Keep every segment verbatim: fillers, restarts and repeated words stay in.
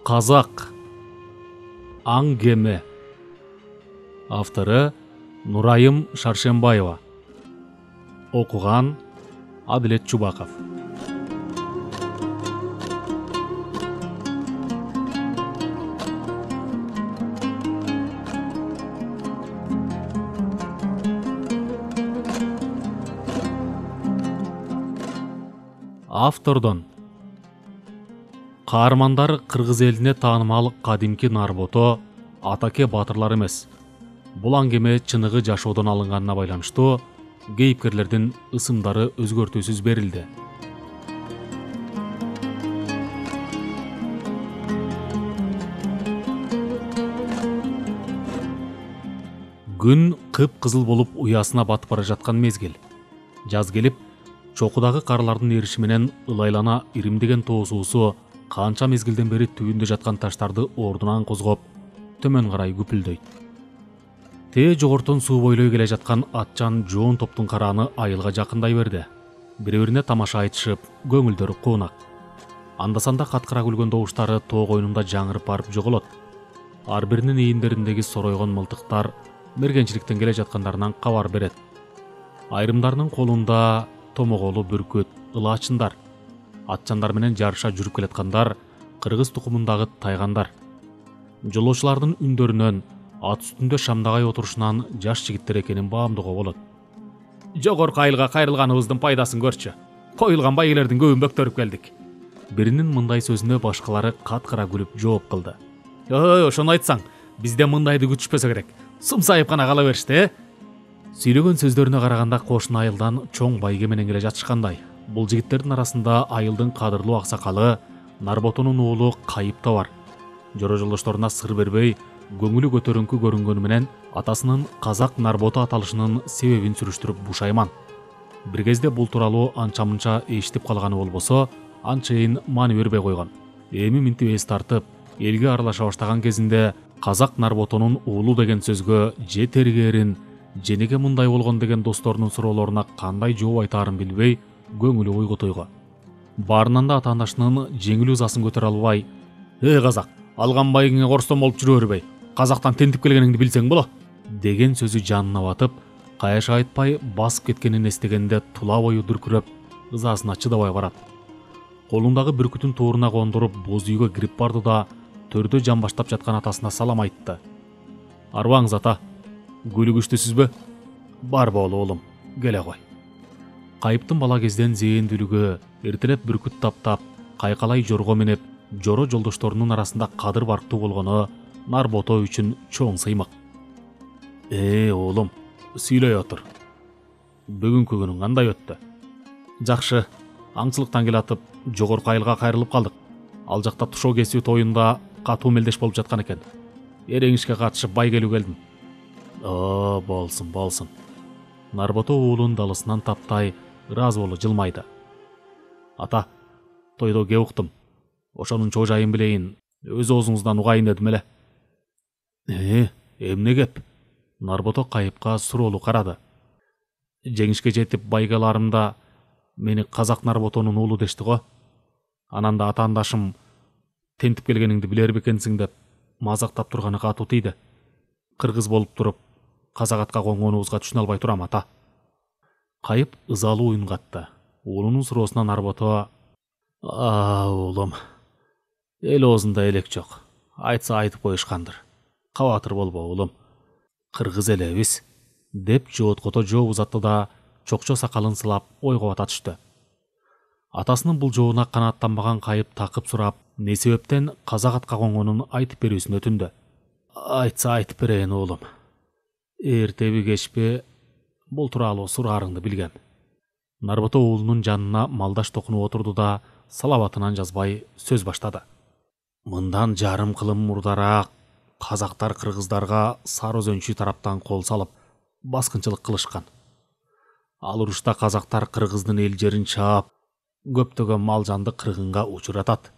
Казак аң кеме. Автору Нурайым Шаршембаева. Окуган Адилет Чубаков. Автордон: каармандар кыргыз элине таанымал кадимки Нарбото атаке батырлар эмес. Бул аңгеме чыныгы жашоодон алынганына байланыштуу кейипкерлердин ысымдары өзгөртүүсүз берилди. Күн кып-кызыл болуп уясына батып бара жаткан мезгил. Жаз келип, чокудагы карлардын эриши менен ылайлана иримдеген тоо суусу канча мезгилден бери түбүндө жаткан таштарды ордунан козгоп, төмөн карай күпүлдөйт. Тээ жогортон суу бойлой келе жаткан атчан жоон топтун карааны айылга жакындай берди. Бири-бирине тамаша айтышып, көңүлдөрү куунак. Анда-санда каткыра күлгөн добуштары тоо койнунда жаңырып барып жоголот. Ар биринин ийиндериндеги соройгон мылтыктар мергенчиликтен келе жаткандарынан кабар берет. Айрымдарынын колунда томоголу бүркүт, ылаачындар, атчандар менен жарыша жүрүп келаткандар, кыргыз тукумундагы тайгандар. Жолоочулардын үндөрүнөн, ат үстүндө шамдагай отурушунан жаш жигиттер экенин баамдоого болот. Жогорку айылга кайрылганыбыздын пайдасын көрчү. Коюлган байгелердин көбүн бөктөрүп келдик. Биринин мындай сөзүнө башкалары каткыра күлүп жооп кылды. Ой, ошону айтсаң, бизде мындайды күтүшпөсө керек. Сымсайып гана кала беришти, э? Сүйлөгөн сөздөрүнө караганда кошуна айылдан чоң байге менен келе жатышкандай. Бул жигиттердин арасында айылдын кадырлуу аксакалы Нарботонун уулу Кайып да бар. Жора жолдошторуна сыр бербей, көңүлү көтөрүңкү көрүнгөнү менен атасынын Казак Нарбото аталышынын себебин сүрүштүрүп бушайман. Бир кезде бул тууралуу анча-мынча эшитип калганы болбосо, анчейин маани бербей койгон. Эми минтип эс тартып, элге аралаша баштаган кезинде Казак Нарботонун уулу деген сөзгө же тергээрин, же неге мындай болгон деген досторунун суроолоруна кандай жооп айтаарын билбей, көңүлү ойго тойго. Баарынан да атаандашынын жеңил ызасын көтөрө албай: "Эй Казак, алган байгиңе корстон болуп жүрө бербей, Казактан тентип келгениңди билсең боло" деген сөзү жанына батып, кайыша айтпай басып кеткенин эстегенде тула бою дүркүрөп, ызасына чыдабай барат. Колундагы бүркүтүн тооруна кондуруп боз үйгө кирип барды да төрдө жан баштап жаткан атасына салам айтты. "Арбаңыз ата, күлүгүчтүсүзбү? Барбы оолум, келе кой." Кайыптын бала кезден зээндүүлүгү, эртелеп бүркүт таптап, кайкалай жорго менеп, жоро жолдошторунун арасында кадыр барктуу болгону Нарбото үчүн чоң сыймык. "Э, оолум, сүйлөй отур. Бүгүнкү күнүң кандай өттү?" "Жакшы, аңчылыктан келатып, жогорку айылга кайрылып калдык. Ал жакта тушоо кесүү тоюнда катуу мелдеш болуп жаткан экен. Эреңишке катышып байгелүү келдим." "О, болсун, болсун." Нарбото уулун далысынан таптай, ыраазы болуп жылмайды. "Ата, тойдо кеп уктум. Ошонун чоо жайын билейин, өз оозуңуздан угайын дедим эле." "Э, эмне кеп?" Нарбото Кайыпка суроолуу карады. "Жеңишке жетип байгеларымда мени Казак Нарботонун уулу дешти го. Анан да атаандашым тентип келгениңди билер бекенсиң деп мазактап турганы катуу тийди. Кыргыз болуп туруп, казак атка конгонубузга түшүнө албай турам, ата." Кайып ызалуу үн катты. Уулунун суроосуна Нарбото: "А, уулум, эл оозунда элек жок. Айтса айтып коюшкандыр. Кабатыр болбо, уулум. Кыргыз элебиз" деп жооткото жооп узатты да чокчо сакалын сылап ойго бата түштү. Атасынын бул жообуна канааттанбаган Кайып такып сурап, эмне себептен казак атка конгонун айтып берүүсүн өтүндү. "Айтса айтып берейин, уулум. Эртеби кечпи бул тууралуу сураарыңды билгем." Нарбото уулунун жанына малдаш токунуп отурду да салабатынан жазбай сөз баштады. "Мындан жарым кылым мурдараак казактар кыргыздарга Сары Өзөнчү тараптан кол салып, баскынчылык кылышкан. Ал урушта казактар кыргыздын эл жерин чаап, көптөгөн мал жанды кыргынга учуратат.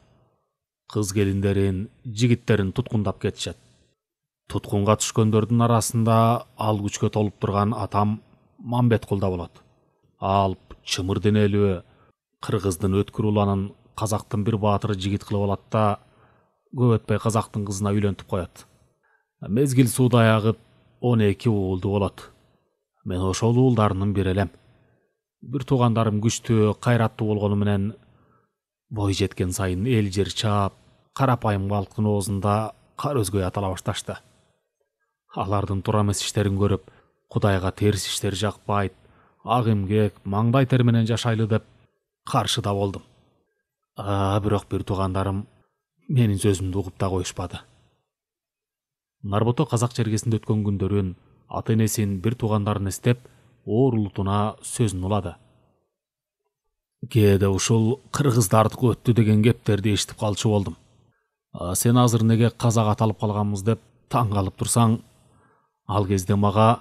Кыз келиндерин, жигиттерин туткундап кетишет. Туткунга түшкөндөрдүн арасында ал күчкө толуп турган атам Мамбеткул да болот. Алп, чымыр денелүү, кыргыздын өткүр уланын казактын бир баатыры жигит кылып алат да көп өтпөй казактын кызына үйлөнтүп коет. Мезгил сууда аягып он эки уулду болот. Мен ошол уулдарынын бири элем. Бир туугандарым күчтүү, кайраттуу болгону менен бой жеткен сайын эл жер чаап, карапайым калктын оозунда кар өзгөй атала башташты. Алардын туура эмес иштерин көрүп, Кудайга терс иштер жакпайт, ак эмгек, маңдай тер менен жашайлы деп каршыда болдум. А бирок бир туугандарым менин сөзүмдү угуп да коюшпады. Нарбото казак чергесинде өткөн күндөрүн, ата энесин, бир туугандарын эстеп, оорулутуна сөзүн улады. Кээде ушул кыргыздардыкы өттү деген кептерди эшитип калчу болдум. А сен азыр неге казак аталып калганбыз деп таң калып турсаң, ал кезде мага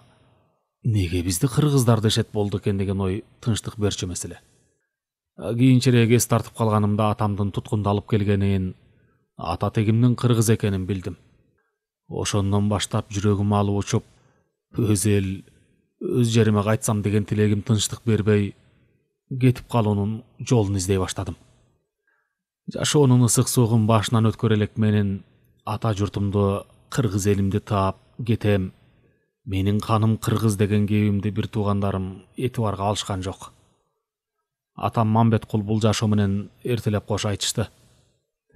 неге бизди кыргыздар дешет болду экен деген ой тынчтык берчү эмес эле. Кийинчерээк эс тартып калганымда атамдын туткунду алып келгенин, ата тегимдин кыргыз экенин билдим. Ошондон баштап жүрөгүм алып учуп, өз эл, өз жериме кайтсам деген тилегим тынчтык бербей, кетип калуунун жолун издей баштадым. Жашоонун ысык суугун башынан өткөрө элек менин ата журтумду, кыргыз элимди таап кетем, менин каным кыргыз деген кебимди бир туугандарым этибарга алышкан жок. Атам Мамбеткул бул жашоо менен эртелеп кош айтышты.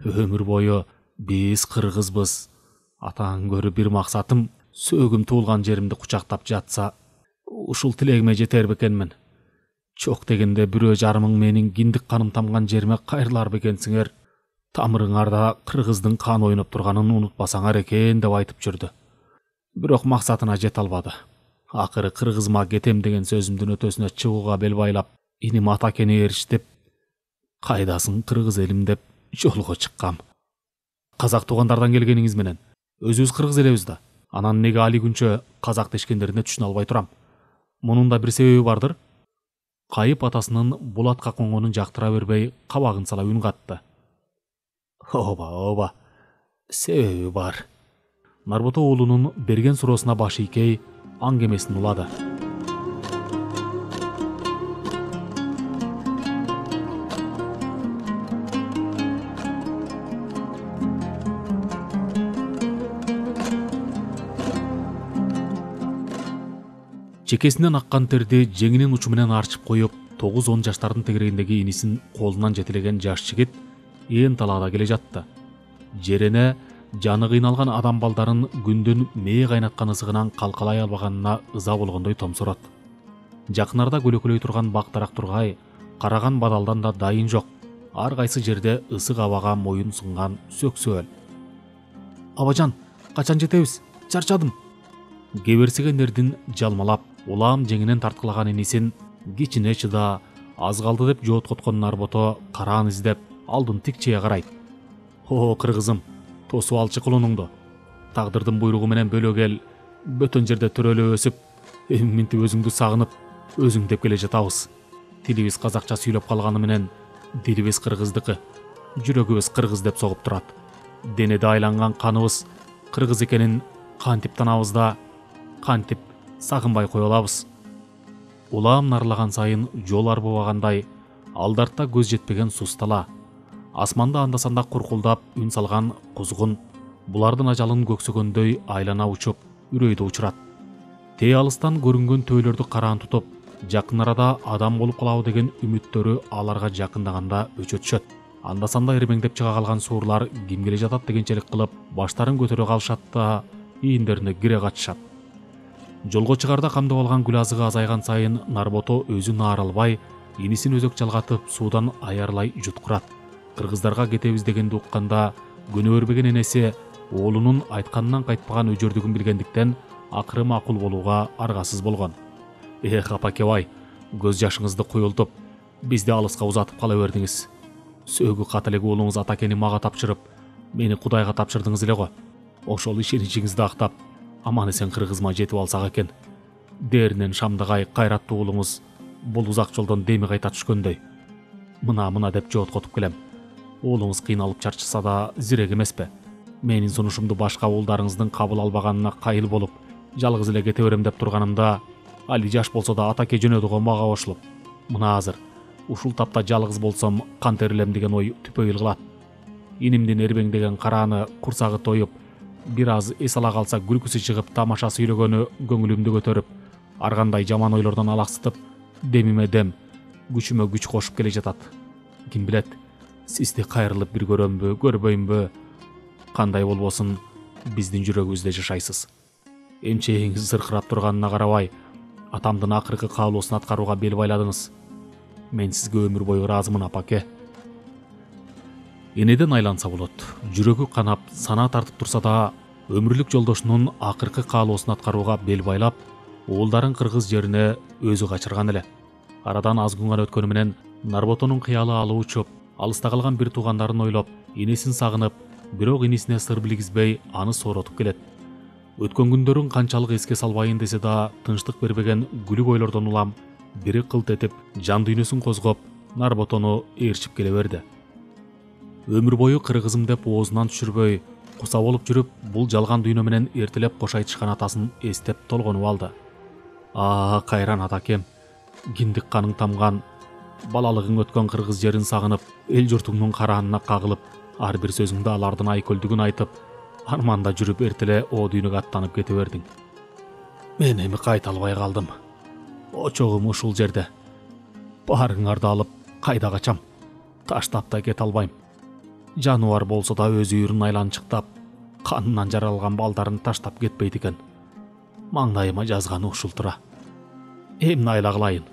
Өмүр бою биз кыргызбыз. Атаң көрү бир максатым сөөгүм туулган жеримди кучактап жатса, ушул тилегиме жетер бекенмин. Чок дегенде бирөө жарымың менин киндик каным тамган жериме кайрылар бекенсиңер. Тамырыңарда кыргыздын каны ойноп турганын унутпасаңар экен деп айтып жүрдү. Бирок максатына жете албады. Акыры кыргызыма кетем деген сөзүмдүн өтөсүнө чыгууга бел байлап, иним Атакени ээрчитип, кайдасың кыргыз элим деп жолго чыккам. Казак туугандардан келгениңиз менен өзүбүз кыргыз элебиз да. Анан неге али күнчө казак дешкендерине түшүнө албай турам. Мунун да бир себеби бардыр. Кайып атасынын Булатка коңгонун жактыра бербей, кабагын сала үн катты. Оба, оба. Себеби бар. Нарбото уулунун берген суроосуна баш ийкей, аңгемесин улады. Чекесинен аккан терди жеңинин учу менен арчып коюп, тогуз он жаштардын тегерегиндеги инисин колунан жетелеген жаш жигит ээн талаада келе жатты. Жерене жаны кыйналган адам балдарын күндүн мээ кайнаткан ысыгынан калкалай албаганына ыза болгондой томсорот. Жакынарда көлөкөлөй турган бак-дарак тургай, караган бадалдан да дайын жок. Ар кайсы жерде ысык абага моюн сунган сөксөөл. Абажан, качан жетебиз? Чарчадым. Кеберсиген эрдин жалмалап, улам жеңинен тарткылаган инисин кичине чыда, аз калды деп жооткоткон Нарбото караан издеп, алдын тикчее карайт. О, кыргызым, тосуп алчы кулунуңду. Тагдырдын буйругу менен бөлө кел, бөтөн жерде төрөлө өсүп, минтип өзүңдү сагынып, өзүң деп келе жатабыз. Тилибиз казакча сүйлөп калганы менен, дилибиз кыргыздыкы, жүрөгүбүз кыргыз деп согуп турат. Денеде айланган каныбыз кыргыз экенин кантип танабыз да, кантип сагынбай кое алабыз. Улам нарлаган сайын жол арбыбагандай, алдарта көз жетпеген сустала, асманда анда-санда куркулдап үн салган кузгун булардын ажалын көксөгөндөй айлана учуп, үрөйдө учурат. Тээ алыстан көрүнгөн төөлөрдү караан тутуп, жакын арада адам болуп калабы деген үмүттөрү аларга жакындаганда өчө түшөт. Анда-санда эрмеңдеп чыга калган суурлар ким келе жатат дегенчелик кылып, баштарын көтөрө калышат да ийиндерине кире качышат. Жолго чыгарда камдып алган күл азыгы азайган сайын Нарбото өзү наар албай, инисин өзөк жалгатып суудан аярлай жуткурат. Кыргыздарга кетебиз дегенди укканда, көнө бербеген энеси оолунун айтканынан кайтпаган өжөрдүгүн билгендиктен акыры макул болууга аргасыз болгон. Эх, апакебай, көз жашыңызды куюлтуп, бизди алыска узатып кала бердиңиз. Сөөгү кат элек уулуңуз Атакени мага тапшырып, мени Кудайга тапшырдыңыз эле го. Ошол ишеничиңизди актап, аман эсен кыргызыма жетип алсак экен. Дээринен шамдагай кайраттуу уулуңуз бул узак жолдон деми кайта түшкөндөй. Мына-мына деп жооткотуп келем. Уулуңуз кыйналып чарчаса да зирек эмеспи? Менин сунушумду башка уулдарыңыздын кабыл албаганына кайыл болуп, жалгыз эле кете берем деп турганымда, али жаш болсо да Атаке жөнөдү го мага кошулуп. Мына азыр ушул тапта жалгыз болсом кантип эрилем деген ой түпөйүл кылат. Инимдин эрбеңдеген карааны курсагы тоюп, бир аз эс ала калса күлкүсү чыгып, тамаша сүйлөгөнү көңүлүмдү көтөрүп, ар кандай жаман ойлордон алаксытып, демиме дем, күчүмө күч кошуп келе жатат. Ким билет, сизди кайрылып бир көрөмбү, көрбөймбү? Кандай болбосун, биздин жүрөгүбүздө жашайсыз. Эмчегиңиз зыркырап турганына карабай, атамдын акыркы каалоосун аткарууга бел байладыңыз. Мен сизге өмүр бою ыраазымын, апаке. Энеден айланса болот. Жүрөгү канап, санаа тартып турса да, өмүрлүк жолдошунун акыркы каалоосун аткарууга бел байлап, уулдарын кыргыз жерине өзү качырган эле. Арадан аз күн гана өткөнү менен Нарботонун кыялы алып учуп, алыста калган бир туугандарын ойлоп, энесин сагынып, бирок инисине сыр билгизбей аны сооротуп келет. Өткөн күндөрүн канчалык эске салбайын десе да, тынчтык бербеген күлүк ойлордон улам бири кылт этип, жан дүйнөсүн козгоп, Нарботону ээрчип келе берди. Өмүр бою кыргызым деп оозунан түшүрбөй, куса болуп жүрүп, бул жалган дүйнө менен эртелеп кош айтышкан атасын эстеп толгонуп алды. Аа, кайран атакем, киндик каның тамган, балалыгың өткөн кыргыз жерин сагынып, эл журтуңдун караанына кагылып, ар бир сөзүңдө алардын айкөлдүгүн айтып, арманда жүрүп эртеле о дүйнөгө аттанып кете бердиң. Мен эми кайта албай калдым. Очогум ушул жерде. Баарыңарды алып, кайда качам? Таштап да кете албайм. Жаныбар болсо да өз үйүрүн айланчыктап, канынан жаралган балдарын таштап кетпейт экен. Маңдайыма жазганы ушул тура. Эмне айла кылайын?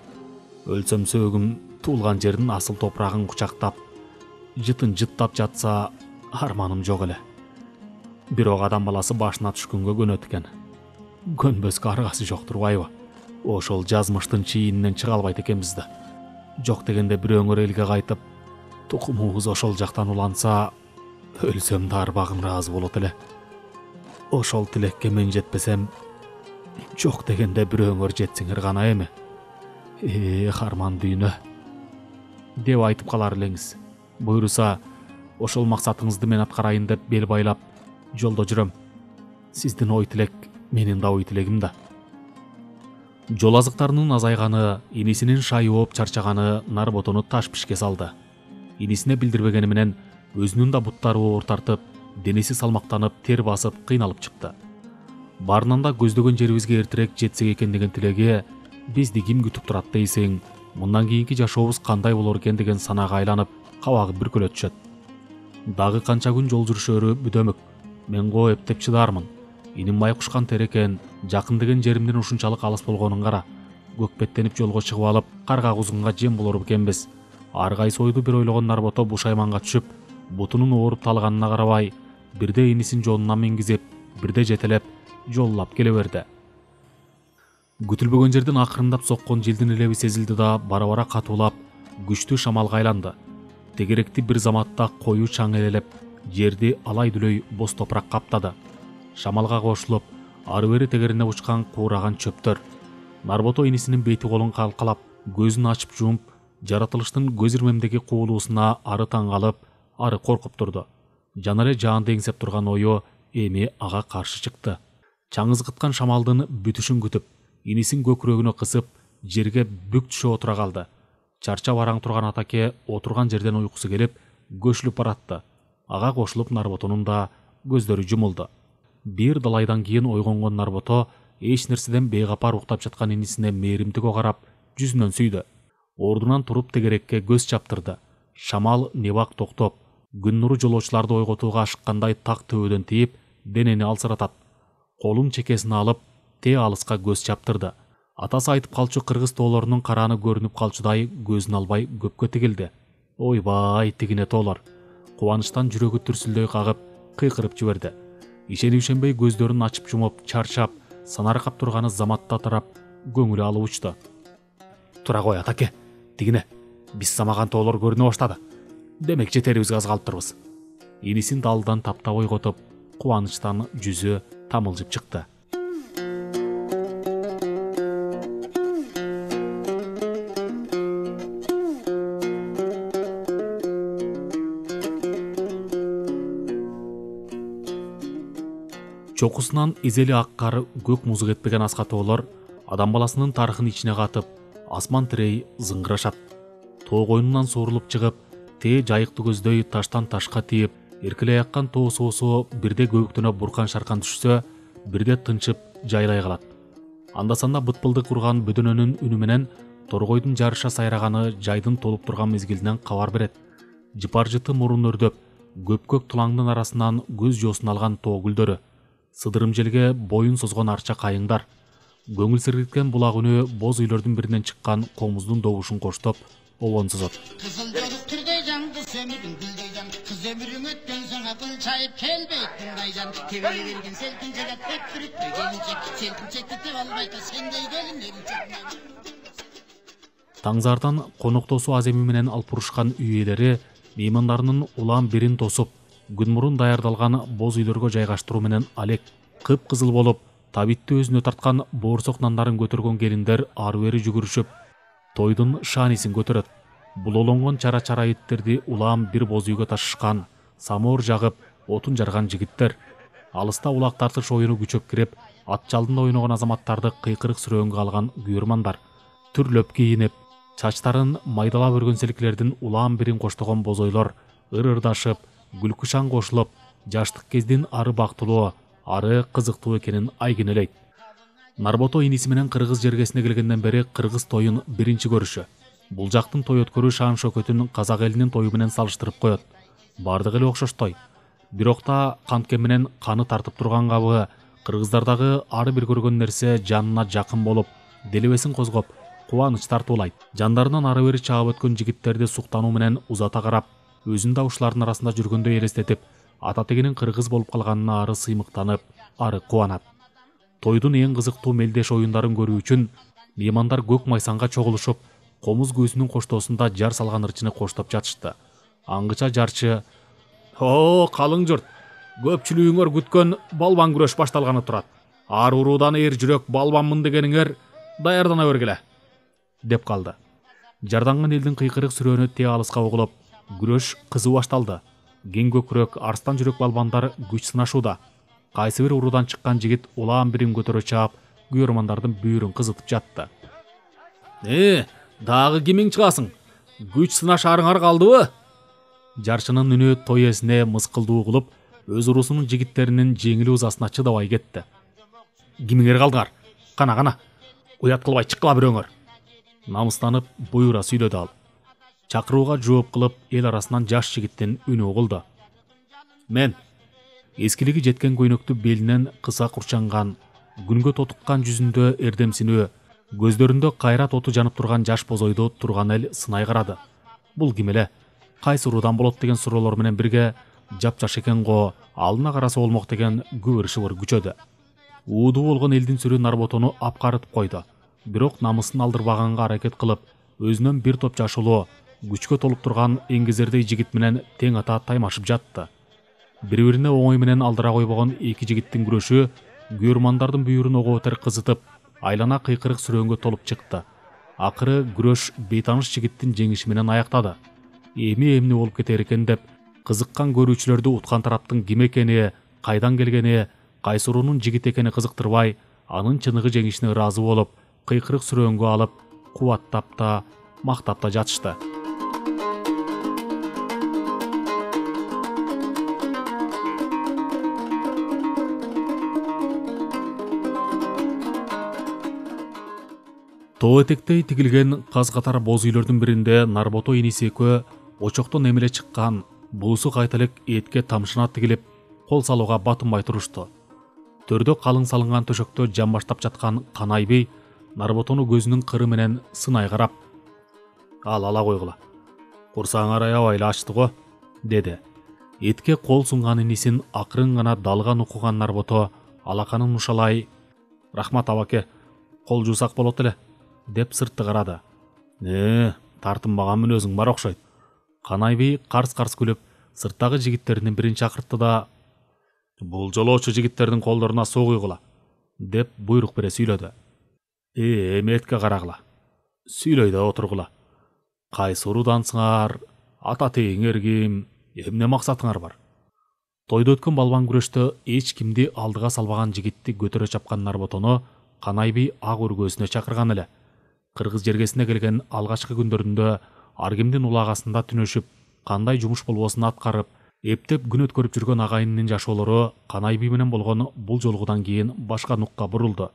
Өлсөм сөөгүм туулган жердин асыл топурагын кучактап, жытын жыттап жатса, арманым жок эле. Бирок адам баласы башына түшкөнгө көнөт экен. Көнбөскө аргасы жок турбайбы? Ошол жазмыштын чийининен чыга албайт экенбиз да. Жок дегенде бирөөңөр элге кайтып, тукумубуз ошол жактан уланса, өлсөм да арбагым ыраазы болот эле. Ошол тилекке мен жетпесем, жок дегенде бирөөңөр жетсиңер гана эми. Эх, арман дүйнө, деп айтып калар элеңиз. Буйруса, ошол максатыңызды мен аткарайын деп бел байлап, жолдо жүрөм. Сиздин ой тилек менин да ой тилегим да. Жол азыктарынын азайганы, инисинин шайы ооп чарчаганы Нарботону таш пишке салды. Инисине билдирбегени менен өзүнүн да буттары оор тартып, денеси салмактанып, тер басып, кыйналып чыкты. Баарынан да көздөгөн жерибизге эртерээк жетсек экен деген тилеги, бизди ким күтүп турат дейсиң, мындан кийинки жашообуз кандай болор экен деген санаага айланып, кабагы бүркөлө түшөт. Дагы канча күн жол жүрүшөрү бүдөмүк. Мен го эптеп чыдармын. Иним майкушкан тер экен, жакын деген жеримдин ушунчалык алыс болгонун кара. Көкпеттенип жолго чыгып алып, карга кузунга жем болор бекенбиз. Ар кайсы ойду бир ойлогон Нарбото бушайманга түшүп, бутунун ооруп талганына карабай, бирде инисин жонуна мингизип, бирде жетелеп, жоллап келе берди. Күтүлбөгөн жерден акырындап соккон желдин элеби сезилди да, бара-бара катуулап, күчтүү шамалга айланды. Тегеректи бир заматта коюу чаң элелеп, жерди алай-дүлөй боз топурак каптады. Шамалга кошулуп, ары-бери тегерине учкан куураган чөптөр. Нарбото инисинин бети колун калкалап, көзүн ачып жумуп, жаратылыштын көз ирмемдеги кубулуусуна ары таң калып, ары коркуп турду. Жана эле жаанды эңсеп турган ою эми ага каршы чыкты. Чаңызгыткан шамалдын бүтүшүн күтүп, инисин көкүрөгүнө кысып, жерге бүк түшө отура калды. Чарчап араң турган атаке отурган жерден уйкусу келип, көчүлүп баратты. Ага кошулуп Нарботонун да көздөрү жумулду. Бир далайдан кийин ойгонгон Нарбото эч нерседен бейгапар уктап жаткан инисине мээримдиго карап, жүзүнөн сүйдү. Ордунан туруп тегерекке көз чаптырды. Шамал небак токтоп, күн нуру жолоочуларды ойготууга ашыккандай так төбөдөн тийип, денени алсыратат. Колун чекесине алып, те алыска көз чаптырды. Атасы айтып калчу кыргыз тоолорунун карааны көрүнүп калчудай көзүн албай көпкө тигилди. Ойбай, тигине тоолор. Кубанычтан жүрөгү түрсүлдөй кагып, кыйкырып жиберди. Ишенип ишенбей көздөрүн ачып жумуп, чарчап, санаркап турганы заматта тарап, көңүлү алып учту. Тура кой атаке, тигине, биз самаган тоолор көрүнө баштады. Демек жетерибизге аз калыптырбыз. Инисин далдан таптап ойготуп, кубанычтан жүзү тамылжып чыкты. Чокусунан изели ак кар, көк музу кетпеген аска тоолор адам баласынын тарыхын ичине катып, асман тирей зыңгырашат. Тоо койнунан суурулуп чыгып, тээ жайыкты көздөй таштан ташка тийип, эркелей аккан тоо суусу бирде көбүктөнө буркан шаркан түшсө, бирде тынчып жайлай калат. Анда санда бытпылдык урган бөдөнөнүн үнү менен торгойдун жарыша сайраганы жайдын толуп турган мезгилинен кабар берет. Жыпар-жыты мурун өрдөп, көпкөк тулаңдын арасынан көз жоосун алган тоо гүлдөрү, сыдырым желге боюн созгон арча кайыңдар, көңүл сергиткен булак үнү боз үйлөрдүн биринен чыккан комуздун добушун коштоп обон созот. Кызыл жолук түрдөй жаңды сөмүрүң гүлдөй жан, кыз өмүрүң өткөн соң акыл чайып келбейт кайжан, тебеле берген селкин жагат өттүрүптү келинчек, селкинчекти теп албайт сендей келин элчек. Таңзардан коноктосу аземи менен алпурушкан үй ээлери меймандарынын улам бирин тосуп, күн мурун даярдалган боз үйлөргө жайгаштыруу менен алек кып-кызыл болуп, табитти өзүнө тарткан боорсок нандарын көтөргөн келиндер ары-бери жүгүрүшүп, тойдун шаанисин көтөрөт. Булолонгон чара-чара иттерди улам бир боз үйгө ташышкан, самоор жагып, отун жарган жигиттер, алыста улак тартыш оюну күчөп кирип, ат жалдында ойногон азаматтарды кыйкырык сүрөөнгө алган күйөрмандар, түрлөп кийинип, чачтарын майдалап өргөн селкилердин улам бирин коштогон бозойлор ыр-ырдашып, күлкү шаң кошулуп, жаштык кездин ары бактылуу, ары кызыктуу экенин айгинелейт. Нарбото иниси менен кыргыз жергесине келгенден бери кыргыз тоюн биринчи көрүшү. Бул жактын той өткөрүү шаан шөкөтүн казак элинин тою менен салыштырып коет. Бардыгы эле окшоштой. Бирок да кантке менен каны тартып турган кабы, кыргыздардагы ары бир көргөн нерсе жанына жакын болуп, делебесин козгоп, кубаныч тартуулайт. Жандарынан ары бери чаап өткөн жигиттерди суктануу менен узата карап, өзүн да ушулардын арасында жүргөндөй элестетип, ата тегинин кыргыз болуп калганына ары сыймыктанып, ары кубанат. Тойдун эң кызыктуу мелдеш оюндарын көрүү үчүн меймандар көк майсанга чогулушуп, комуз көзүнүн коштоосунда жар салган ырчыны коштоп жатышты. Аңгыча жарчы: "О, калың журт, көпчүлүгүңөр күткөн балбан күрөш башталганы турат. Ар уруудан эр жүрөк балбанмын дегениңер даярдана бергиле" деп калды. Жарданган элдин кыйкырык сүрөөнү те алыска угулуп, күрөш кызуу башталды. Кең көкүрөк арстан жүрөк балбандар күч сынашууда. Кайсы бир уруудан чыккан жигит улам бирин көтөрө чаап, күйөрмандардын бүйүрүн кызытып жатты. "Э, дагы кимиң чыгасың? Күч сынашарыңар калдыбы?" Жарчынын үнү той ээсине мыскылдуу угулуп, өз уруусунун жигиттеринин жеңил ызасына чыдабай кетти. "Кимиңер калдыңар? Кана, кана, уят кылбай чыккыла бирөөңөр" намыстанып буйрура сүйлөдү ал. Чакырууга жооп кылып, эл арасынан жаш жигиттин үнү угулду. "Мен эскилиги жеткен көйнөктү белинен кыса курчанган, күнгө тотуккан жүзүндө эрдемсинүү, көздөрүндө кайрат оту жанып турган жаш бозойду турган эл сынай карады. Бул ким эле? Кайсы уруудан болот деген суроолор менен бирге жапжаш экен го, алына караса болмок деген күбүр-шыбыр күчөдү. Уудуу болгон элдин сүрү Нарботону апкарытып койду. Бирок намысын алдырбаганга аракет кылып, өзүнөн бир топ жашылуу, күчкө толуп турган эңгезердей жигит менен тең ата таймашып жатты. Бири-бирине оңой менен алдыра койбогон эки жигиттин күрөшү күйөрмандардын бүйүрүн ого-бетер кызытып, айлана кыйкырык сүрөөнгө толуп чыкты. Акыры күрөш бейтаныш жигиттин жеңиши менен аяктады. Эми эмне болуп кетер экен деп, кызыккан көрүүчүлөрдү уткан тараптын ким экени, кайдан келгени, кайсы уруунун жигити экени кызыктырбай, анын чыныгы жеңишине ыраазы болуп, кыйкырык сүрөөнгө алып, кубаттап да, мактап да жатышты. Тоо этектей тигилген каз катар боз үйлөрдүн биринде Нарбото иниси экөө очоктон эмеле чыккан, буусу кайталык этке тамшына тигилип, кол салууга батынбай турушту. Төрдө калың салынган төшөктө жамбаштап жаткан Канайбей Нарботону көзүнүн кыры менен сынай карап: "Ал ала койгула. Курсаңар аябай эле ачты го", деди. Этке кол сунган инисин акырын гана далган укуган Нарбото алаканын ушалай: "Рахмат абаке, кол жуусак болот эле", деп сыртты карады. "Э, тартынбаган мүнөзүң бар окшойт". Канайбей карс-карс күлүп, сырттагы жигиттеринин бирин чакыртты да: "Бул жолоочу жигиттердин колдоруна суу куйгула", деп буйрук бере сүйлөдү. "Э, эми этке карагыла. Сүйлөй да отургула. Кайсы уруудансыңар? Ата тегиңер ким? Эмне максатыңар бар?" Тойдо өткөн балбан күрөштө эч кимди алдыга салбаган жигитти көтөрө чапкан Нарботону Канайбей ак өргөөсүнө чакырган эле. Кыргыз жергесине келген алгачкы күндөрүндө ар кимдин улагасында түнөшүп, кандай жумуш болбосун аткарып, Эптеп күн өткөрүп жүргөн агайынын жашоолору Канайби менен болгон бул жолгудан кийин башка нукка бурулду.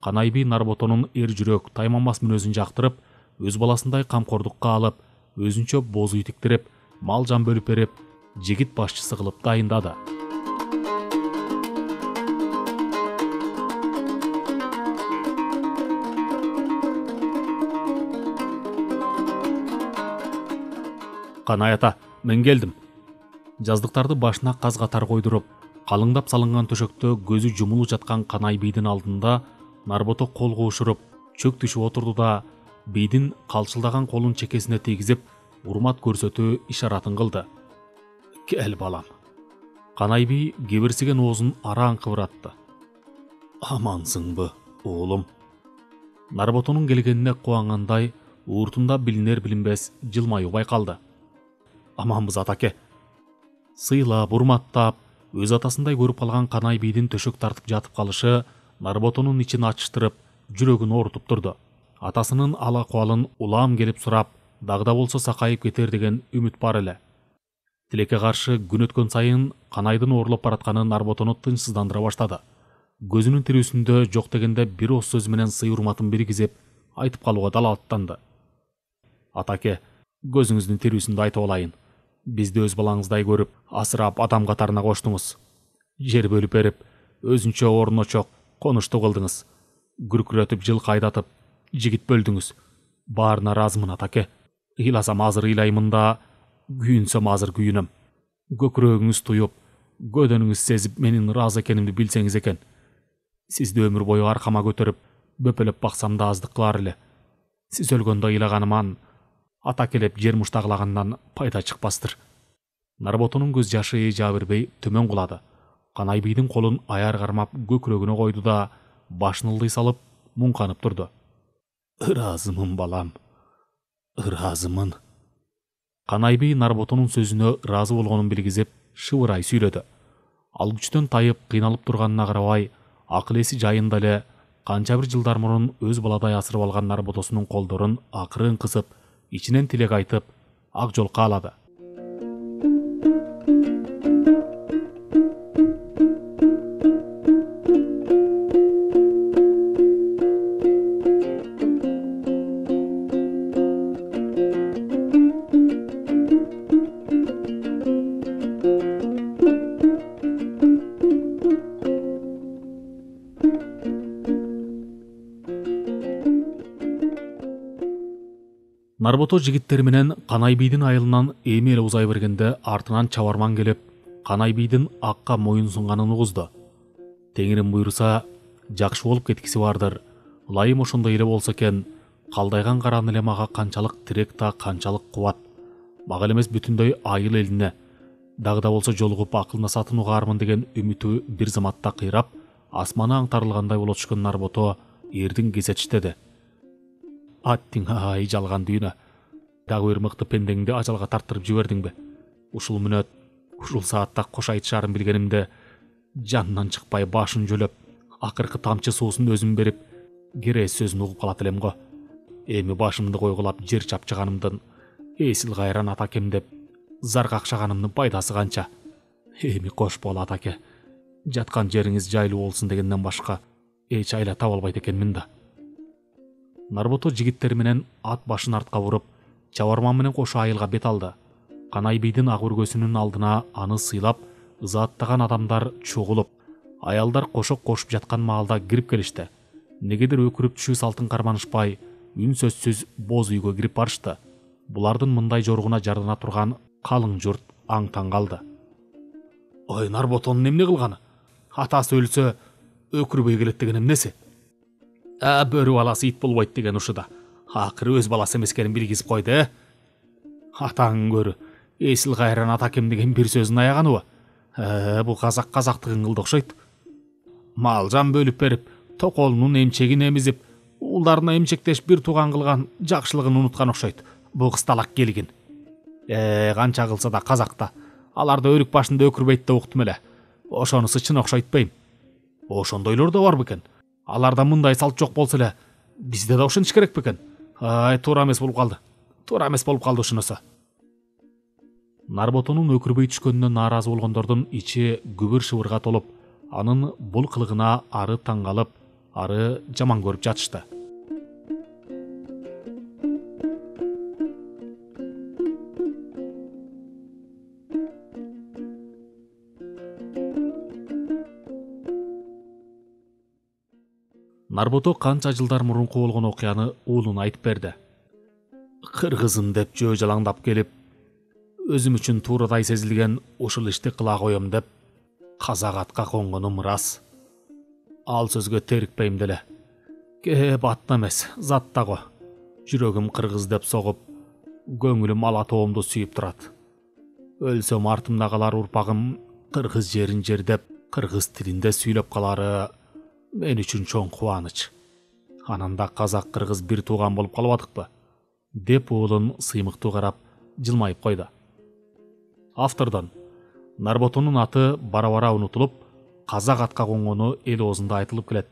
Канайби Нарботонун эр жүрөк, тайманбас мүнөзүн жактырып, өз баласындай камкордукка алып, өзүнчө боз үй тиктирип, мал жан бөлүп берип, жигит башчысы кылып дайындады. Канай ата, мен келдим. Жаздыктарды башына каз катар койдуруп, калыңдап салынган төшөктө көзү жумулуп жаткан Канайбийдин алдында Нарбото кол куушуруп, чөк түшүп отурду да бийдин калчылдаган колун чекесине тийгизип, урмат көрсөтүү ишаратын кылды. Кел балам. Канайби кебирсиген оозун араң кыбыратты. Амансыңбы, оолум? Нарботонун келгенине кубангандай, ууртунда билинер билинбес жылмаюу байкалды. Аманбыз атаке. Сыйлап, урматтап, өз атасындай көрүп калган Канайбийдин төшөк тартып жатып калышы Нарботонун ичин ачыштырып, жүрөгүн оорутуп турду. Атасынын ала кубалын улам келип сурап, дагы болсо сакайып кетер деген үмүт бар эле. Тилекке каршы күн өткөн сайын Канайдын оорлоп баратканы Нарботону тынчсыздандыра баштады. Көзүнүн тирүүсүндө жок дегенде бир ооз сөз менен сый урматын биргизип, айтып калууга далалаттанды. Атаке, көзүңүздүн тирүүсүндө айтып алайын. Бизди өз балаңыздай көрүп, асырап адам катарына коштуңуз. Жер бөлүп берип, өзүнчө орно чок, конушту кылдыңыз. Күркүрөтүп, жылкы айдатып, жигит бөлдүңүз. Баарына ыраазымын атаке. Ыйласам азыр ыйлаймын да, күйүнсөм азыр күйүнөм. Көкүрөгүңүз туюп, көдөнүңүз сезип менин ыраазы экенимди билсеңиз экен. Сизди өмүр бою аркама көтөрүп, бөпөлөп баксам да аздык кылар эле. Сиз өлгөндө ыйлаганыман, атакелеп жер муштагылагандан пайда чыкпастыр. Нарботонун көз жашы жаа бербей төмөн кулады. Канайбийдин колун аяр кармап көкүрөгүнө койду да, башын ылдый салып, муңканып турду. Ыраазымын балам, ыраазымын. Канайби Нарботонун сөзүнө ыраазы болгонун билгизип, шыбырай сүйлөдү. Ал күчтөн тайып, кыйналып турганына карабай, акыл эси жайында эле канча бир жылдар мурун өз баладай асырып алган Нарботосунун колдорун акырын кысып, ичинен тилек айтып, ак жол каалады. Нарбото жигиттери менен Канайбийдин айылынан эми эле узай бергенде артынан чабарман келип, Канайбийдин акка моюн сунганын угузду. Теңирим буйруса, жакшы болуп кеткиси бардыр. Ылайым ошондой эле болсо экен, калдайган каран эле мага канчалык тирек та канчалык кубат. Мага эле эмес бүтүндөй айыл элине дагы да болсо жолугуп акылнасатын угаармын деген үмүтү бир заматта кыйрап, асманы аңтарылгандай боло түшкөн Нарбото эрдин кезетиштеди. Аттиң ай жалган дүйнө. Дагы бир мыкты пендеңди ажалга тарттырып жибердиңби? Ушул мүнөт, ушул саатта кош айтышаарын билгенимде, жанынан чыкпай башын жөлөп, акыркы тамчы суусун өзүм берип, керес сөзүн угуп калат элем го. Эми башымды койгулап жер чапчыганымдын, эсил кайран атакем деп, зар какшаганымдын пайдасы канча? Эми кош бол атаке. Жаткан жериңиз жайлуу болсун дегенден башка эч айла таба албайт экенмин да. Нарбото жигиттери менен ат башын артка буруп, чабарман менен кошо айылга бет алды. Канайбийдин ак өргөсүнүн алдына аны сыйлап, ызааттаган адамдар чогулуп, аялдар кошок кошуп жаткан маалда кирип келишти. Негедир өкүрүп түшүү салтын карманышпай, үн сөзсүз боз үйгө кирип барышты. Булардын мындай жоргуна жардана турган калың журт аң-таң калды. Ой, Нарботонун эмне кылганы? Атасы өлсө, өкүрбөй келет деген эмнеси? А бөрү баласы ит болбойт деген ушуда. Акыры өз баласы эмес экенин билгизип койду, э? Атаң көрү, эсил кайран атакем деген бир сөзүн аяганыбы? Э, бул казак казактыгын кылды окшойт. Мал жан бөлүп берип, токолунун эмчегин эмизип, уулдарына эмчектеш бир тууган кылган жакшылыгын унуткан окшойт. Бул кысталак келгин. Э, канча кылса да казакта. Аларды өрүк башында өкүрбөйт деп уктум эле. Ошонусу чын окшойтпайм. Ошондойлор да бар бекен. Аларда мындай салт жок болсо эле, бизде да ошентиш керек бекен. Ай, туура эмес болуп калды. Туура эмес болуп калды ушунусу. Нарботонун өкүрбөй түшкөнүнөн нааразы болгондордун ичи күбүр шыбырга толуп, анын бул кылыгына ары таң калып, ары жаман көрүп жатышты. Нарбото канча жылдар мурунку болгон окуяны уулуна айтып берди. Кыргызым деп жөө жалаңдап келип, өзүм үчүн туурадай сезилген ушул ишти кыла коем деп казак атка конгонум ырас. Ал сөзгө терикпейм деле. Кеп атна эмес, затта го. Жүрөгүм кыргыз деп согуп, көңүлүм ала тоомду сүйүп турат. Өлсөм артымда калар урпагым кыргыз жерин жердеп, кыргыз тилинде сүйлөп калары мен үчүн чоң кубаныч. Ананда казак кыргыз бир тууган болуп калбадыкпы? Деп уулун сыймыктуу карап жылмайып койду. Автордон Нарботонун аты бара-бара унутулуп, казак атка конгону эл оозунда айтылып келет.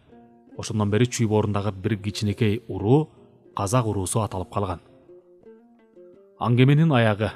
Ошондон бери Чүй боорундагы бир кичинекей уруу казак уруусу аталып калган. Аңгеменин аягы.